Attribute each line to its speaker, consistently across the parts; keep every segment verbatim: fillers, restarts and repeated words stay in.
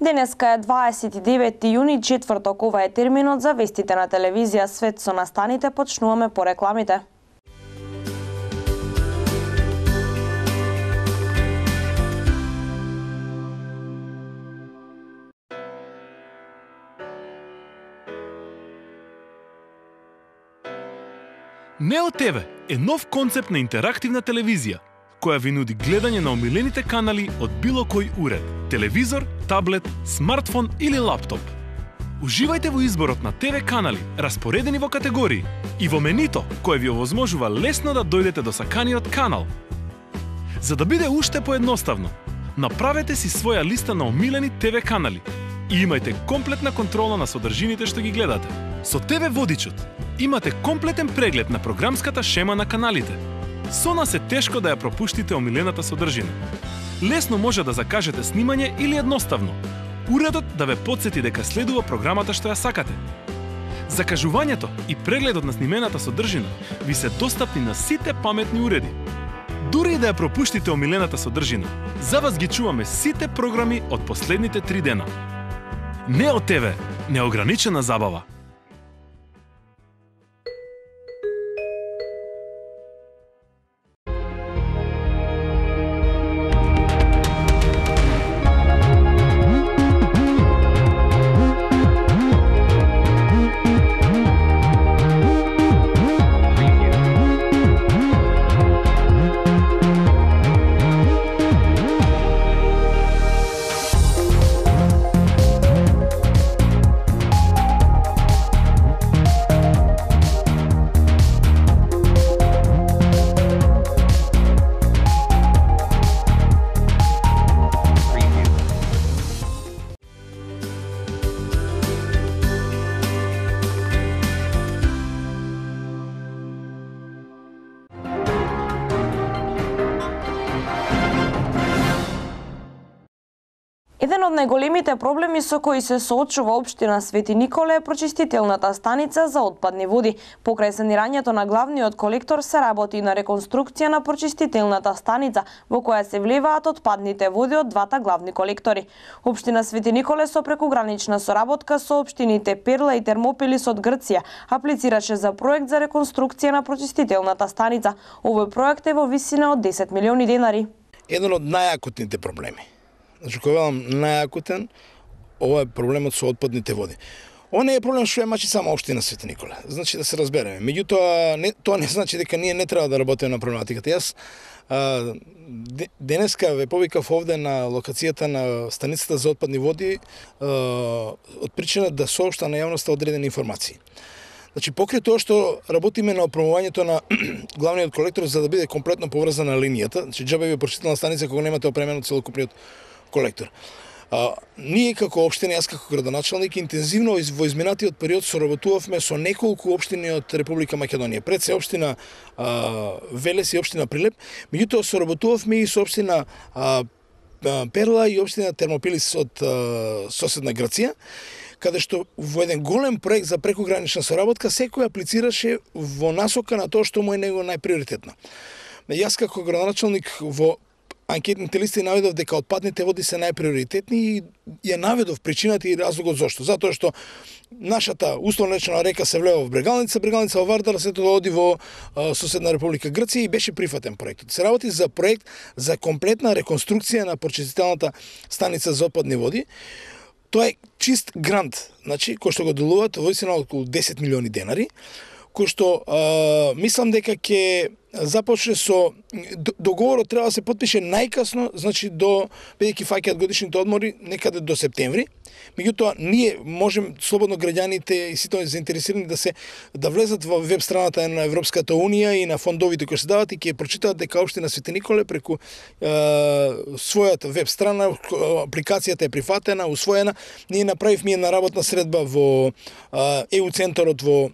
Speaker 1: Денеска е дваесет и девети јуни, четврток, ова е терминот за вестите на телевизија Свет со настаните. Почнуваме по рекламите.
Speaker 2: Нео ТВ е нов концепт на интерактивна телевизија, која ви нуди гледање на омилените канали од било кој уред, телевизор, таблет, смартфон или лаптоп. Уживајте во изборот на ТВ канали, распоредени во категории, и во менито, кое ви овозможува лесно да дојдете до саканиот канал. За да биде уште поедноставно, направете си своја листа на омилени ТВ канали и имајте комплетна контрола на содржините што ги гледате. Со ТВ Водичот имате комплетен преглед на програмската шема на каналите. Со нас е тешко да ја пропуштите омилената содржина. Лесно може да закажете снимање или едноставно уредот да ве потсети дека следува програмата што ја сакате. Закажувањето и прегледот на снимената содржина ви се достапни на сите паметни уреди. Дури и да ја пропуштите омилената содржина, за вас ги чуваме сите програми од последните три дена. Нео ТВ, неограничена забава.
Speaker 1: Еден од најголемите проблеми со кои се соочува општина Свети Николе е прочистителната станица за отпадни води. Покрај санирањето на главниот колектор се работи на реконструкција на прочистителната станица во која се влеваат отпадните води од двата главни колектори. Општина Свети Николе со прекугранична соработка со општините Перла и Термопилис од Грција аплицираше за проект за реконструкција на прочистителната станица. Овој проект е во висина од десет милиони денари.
Speaker 3: Еден од најакутните проблеми. Значи, кој велам најакутен, ова е проблемот со отпадните води. Ова не е проблем што ја мачи само општина Свети Николе. Значи да се разбереме. Меѓутоа, не, тоа не значи дека ние не треба да работиме на проблематиката. Јас а, денеска ве повикав овде на локацијата на станицата за отпадни води а, од причина да соопшта на јавноста одредени информации. Значи, покрај тоа што работиме на опремувањето на главниот колектор за да биде комплетно поврзана линијата, значи џабе ви прочистителна станица кога немате опремено целокупниот колектор. А, ние како општина, јас како градоначалник, интензивно во изминатиот период соработувавме со неколку општини од Република Македонија. Пред се општина а, Велес и општина Прилеп, меѓутоа соработувавме и со општина а, Перла и општина Термопилис од а, соседна Грција, каде што во еден голем проект за прекугранична соработка секој аплицираше во насока на тоа што му е него најприоритетно. Јас како градоначалник во анкетните листи наведов дека отпадните води се најприоритетни и ја наведов причината и разлогот зошто. Затоа што нашата условно речено река се влева во Брегалница, Брегалница во Вардар, се тоа оди во а, соседна Република Грција и беше прифатен проектот. Се работи за проект за комплетна реконструкција на прочистителната станица за отпадни води. Тоа е чист грант, значи, кој што го делуваат во висина околу десет милиони денари, кој што а, мислам дека ќе започне со договорот треба да се потпише најкасно, значи до бидејќи фаќаат годишните одмори некаде до септември. Меѓутоа ние можем слободно граѓаните и сите заинтересирани да се да влезат во веб страната на Европската унија и на фондовите кои се дават и ќе прочитаат дека општина Свети Николе преку е, својата веб страна апликацијата е прифатена, усвоена. Ние направивме една работна средба во ЕУ центарот во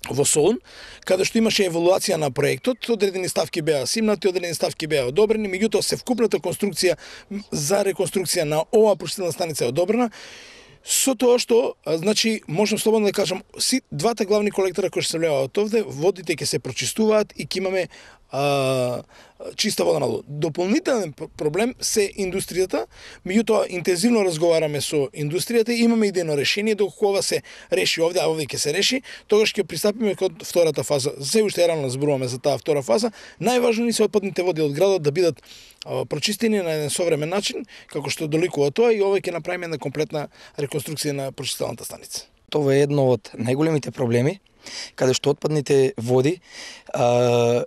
Speaker 3: во Солун, каде што имаше евалуација на проектот, одредени ставки беа симнати, одредени ставки беа одобрени, меѓутоа севкупната конструкција за реконструкција на оваа прочистителна станица е одобрена. Со тоа што, значи, можам слободно да кажам, си двата главни колектора кои што се влеvaат овде, водите ќе се прочистуваат и ќе имаме а, чиста вода надолу. Дополнителен проблем се индустријата, меѓутоа интензивно разговараме со индустријата и имаме идејно решение, доколку ова се реши овде, а овде ќе се реши, тогаш ќе пристапиме кон втората фаза. Се уште е рано зборуваме за таа втора фаза. Најважно ни се отпадните води од градот да бидат а, прочистени на еден современ начин, како што доликува тоа, и ова ќе направиме една комплетна реконструкција на прочистителната станица.
Speaker 4: Тоа е едно од најголемите проблеми, каде што отпадните води а,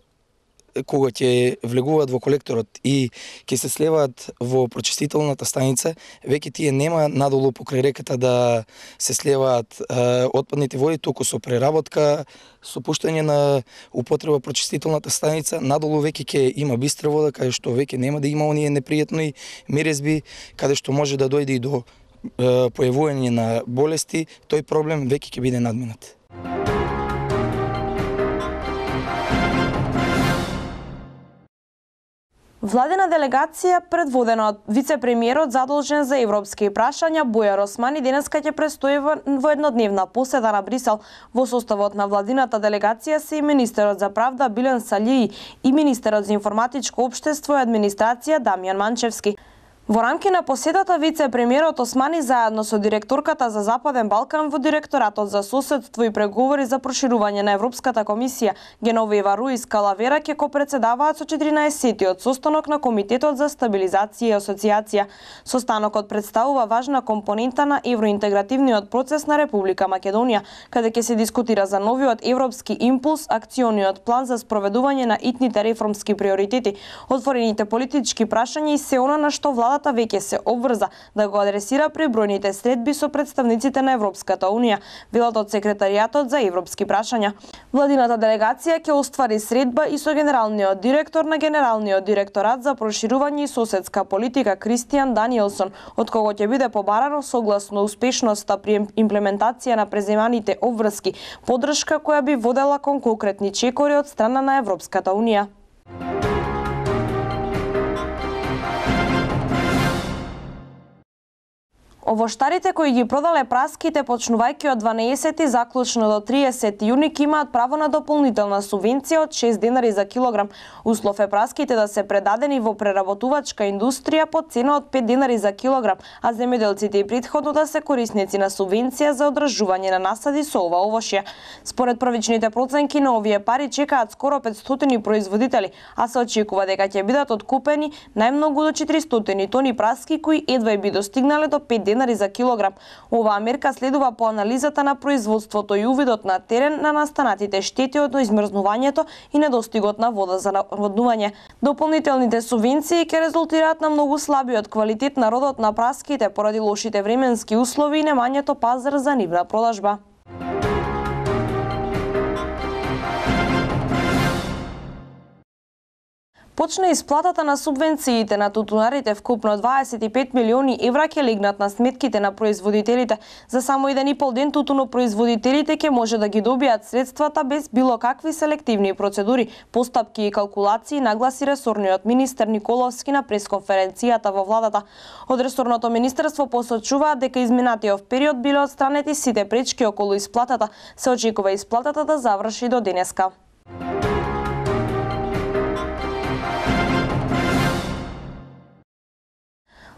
Speaker 4: кога ќе влегуваат во колекторот и ќе се слеваат во прочистителната станица, веќе тие нема надолу покрај реката да се слеваат а, отпадните води, туку со преработка, со пуштање на употреба прочистителната станица, надолу веќе ќе има бистра вода, каде што веќе нема да има оние непријатни мирезби, каде што може да дојде и до а, појавување на болести, тој проблем веќе ќе биде надминат.
Speaker 1: Владина делегација, предводена од вице-премиерот задолжен за европски прашања Бујар Османи, денеска ќе престои во еднодневна посета на Брисел. Во составот на владината делегација се и министерот за правда Билен Салии и министерот за информатичко општество и администрација Дамјан Манчевски. Во рамки на посетата, вице-премиерот Османи заедно со директорката за Западен Балкан во Директоратот за соседство и преговори за проширување на Европската комисија Геновева Руис Калавера ќе копредседаваат со четиринаесеттиот состанок на Комитетот за стабилизација и асоциација. Состанокот представува важна компонента на евроинтегративниот процес на Република Македонија, каде ќе се дискутира за новиот европски импулс, акциониот план за спроведување на итните реформски приоритети, отворените политички прашања и се она на што владата веќе се обврза да го адресира при бројните средби со представниците на Европската Унија, велат од секретаријатот за европски прашања. Владината делегација ќе оствари средба и со генералниот директор на Генералниот директорат за проширување и соседска политика Кристијан Даниелсон, од кого ќе биде побарано согласно успешноста при имплементација на преземаните обврски, поддршка која би водела кон конкретни чекори од страна на Европската Унија. Овоштарите кои ги продале праските почнувајќи од дванаесети заклучно до триесети јуни имаат право на дополнителна субвенција од шест денари за килограм. Услов е праските да се предадени во преработувачка индустрија по цена од пет денари за килограм, а земјоделците и претходно да се корисници на субвенција за одржување на насади со ова овошје. Според првичните проценки на овие пари чекаат скоро петстотини производители, а се очекува дека ќе бидат откупени најмногу до четиристотини тони праски кои едва би достигнале до пет денари за килограм. Оваа мерка следува по анализата на производството и увидот на терен на настанатите штети од измрзнувањето и недостигот на вода за наводнување. Дополнителните субвенции ќе резултираат на многу слабиот квалитет на родот на праските поради лошите временски услови и немањето пазар за нивна продажба. Почна исплатата на субвенциите на тутунарите, вкупно дваесет и пет милиони евра ќе легнат на сметките на производителите. За само еден и пол ден тутунопроизводителите ќе може да ги добијат средствата без било какви селективни процедури, постапки и калкулации, нагласи ресорниот министер Николовски на пресконференцијата во владата. Од ресорното министерство посочуваат дека изминатиот период биле отстранети сите пречки околу исплатата. Се очекува исплатата да заврши до денеска.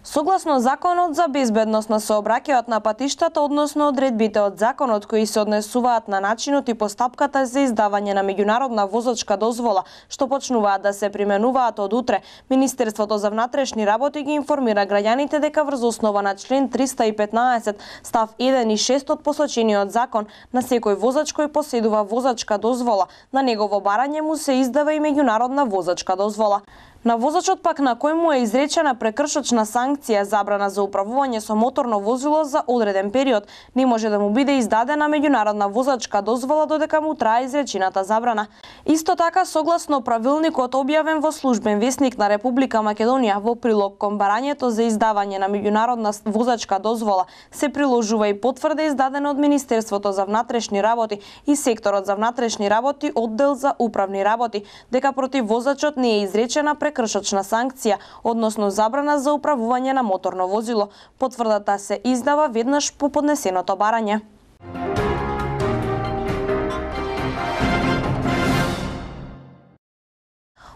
Speaker 1: Согласно Законот за безбедност на сообраќајот на патиштата, односно одредбите од законот кои се однесуваат на начинот и постапката за издавање на меѓународна возачка дозвола, што почнуваат да се применуваат од утре, Министерството за внатрешни работи ги информира граѓаните дека врз основа на член триста и петнаесет став еден и шест од посочениот закон, на секој возач кој поседува возачка дозвола, на негово барање му се издава и меѓународна возачка дозвола. На возачот пак на кој му е изречена прекршочна санкција забрана за управување со моторно возило за одреден период, не може да му биде издадена меѓународна возачка дозвола додека му трае изречената забрана. Исто така, согласно правилникот објавен во Службен весник на Република Македонија, во прилог кон барањето за издавање на меѓународна возачка дозвола се приложува и потврда издадена од Министерството за внатрешни работи и секторот за внатрешни работи, оддел за управни работи, дека против возачот не е изречена прекршочна санкција, односно забрана за управување на моторно возило. Потврдата се издава веднаш по поднесеното барање.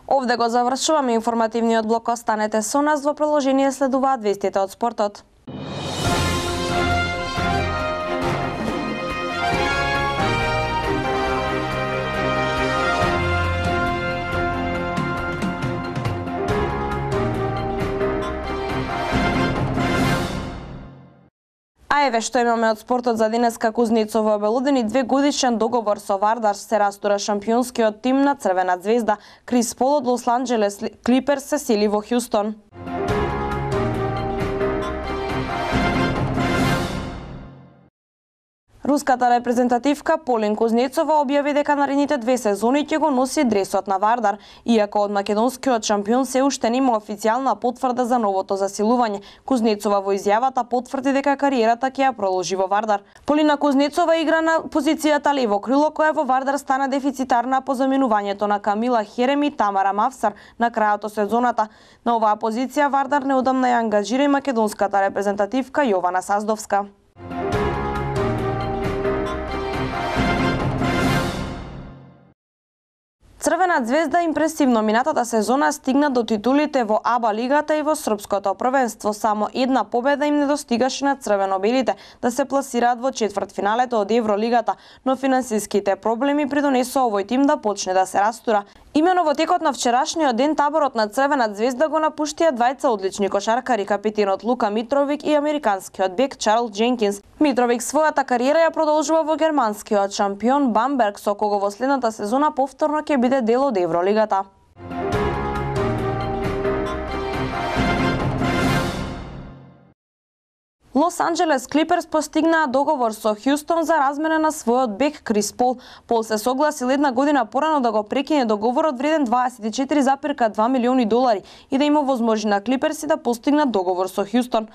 Speaker 1: Овде го завршуваме информативниот блок. Останете со нас, во продолжение следуваат вестите од спортот. А еве што имаме од спортот за денеска. Кузнецово обелодени две годишен договор со Вардар, се растура шампионскиот тим на Црвена звезда. Крис Пол од Лос Анџелес Клиперс се сели во Хјустон. Руската репрезентативка Полин Кузнецова објави дека наредните две сезони ќе го носи дресот на Вардар, иако од македонскиот шампион се уште нема официјална потврда за новото засилување. Кузнецова во изјавата потврди дека кариерата ќе ја продолжи во Вардар. Полина Кузнецова игра на позицијата лево крило, која во Вардар стана дефицитарна по заменувањето на Камила Херем и Тамара Мавсар на крајот од сезоната. На оваа позиција Вардар неодамна ја ангажира и македонската репрезентативка Јована Саздовска. Црвена звезда импресивно минатата сезона стигна до титулите во АБА лигата и во српското првенство. Само една победа им недостигаше на црвено-белите да се пласираат во четвртфиналето од Евролигата, но финансиските проблеми придонесоа овој тим да почне да се растура. Имено во текот на вчерашниот ден таборот на Црвена звезда го напуштија двајца одлични кошаркари, капитенот Лука Митровик и американскиот бек Чарлс Дженкинс. Митровик својата кариера ја продолжува во германскиот шампион Бамберг, со кого во следната сезона повторно ќе биде дел од Евролигата. Лос Анџелес Клиперс постигнаа договор со Хјустон за размена на својот бек Крис Пол. Пол се согласил една година порано да го прекине договорот вреден дваесет и четири зарез два милиони долари и да има возможност на Клиперси да постигнат договор со Хјустон.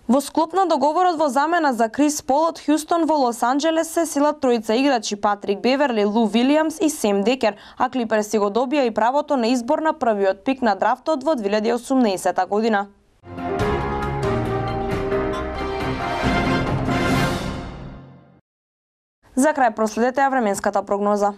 Speaker 1: Во склоп на договорот во замена за Крис Пол од Хјустон во Лос Анџелес се силат тројца играчи: Патрик Беверли, Лу Вилијамс и Сем Декер, а Клиперси го добија и правото на избор на првиот пик на драфтот во две илјади и осумнаесета година. За крај проследете ја временската прогноза.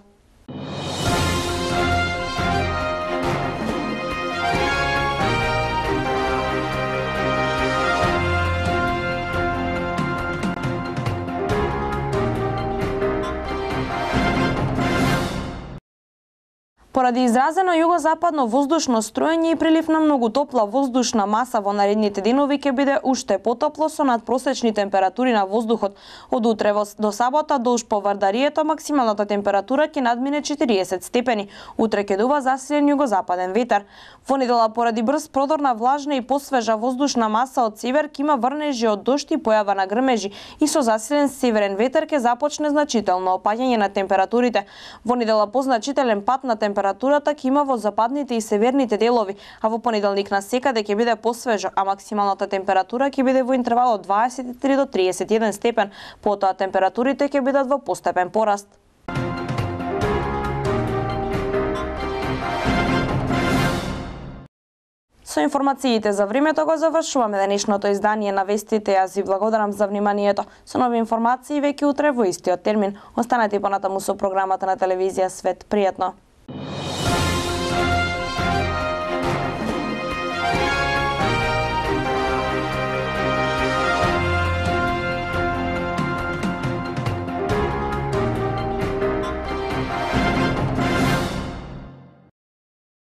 Speaker 1: Поради изразено југозападно воздушно струење и прилив на многу топла воздушна маса во наредните денови ќе биде уште потопло со надпросечни температури на воздухот. Од утре до сабота долж по Вардарието максималната температура ќе надмине четириесет степени. Утре ќе дува засилен југозападен ветар. Во недела поради брз продор на влажна и посвежа воздушна маса од север ќе има врнежи од дожд и појава на грмежи и со засилен северен ветер ќе започне значително опаѓање на температурите. Во недела позначителен пат на температурите Температурата ќе има во западните и северните делови, а во понеделник на секаде ќе биде посвежо, а максималната температура ќе биде во интервал од дваесет и три до триесет и еден степен. Потоа температурите ќе бидат во постепен пораст. Со информациите за времето го завршуваме денешното издание на вестите. Јас ви благодарам за вниманието. Со нови информации веќе утре во истиот термин. Останете понатаму со програмата на телевизија Свет. Пријатно!